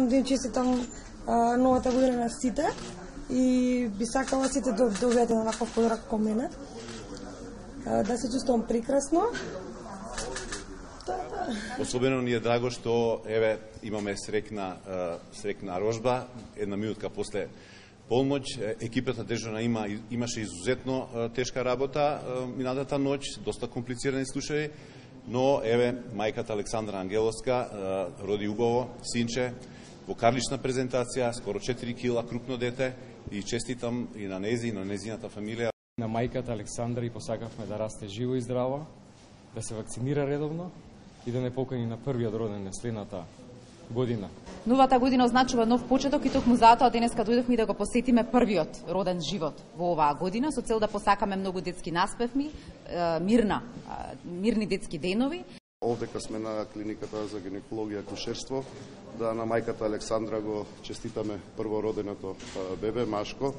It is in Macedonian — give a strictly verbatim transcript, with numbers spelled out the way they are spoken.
сакам да им честитам а, новата година на сите и би сакала сите да добијат еден ваков подарок како мене. А, да се чувствувам прекрасно. Особено ни е драго што еве имаме срекна срекна рожба, една минутка после полноќ. Екипата дежурна има имаше изузетно тешка работа минатата ноќ, доста комплицирани случаи, но еве мајката Александра Ангеловска роди убаво синче во карлична презентација, скоро четири кила, крупно дете, и честитам и на нези и на незината фамилија. На мајката Александра и посакавме да расте живо и здраво, да се вакцинира редовно и да не покани на првиот роден следната година. Новата година означува нов почеток и токму затоа денеска дојдовме да го посетиме првиот роден живот во оваа година со цел да посакаме многу детски наспевми, мирна, мирни детски денови. Овдека сме на клиниката за гинекологија и акушерство, да на мајката Александра го честитаме првороденото бебе, машко.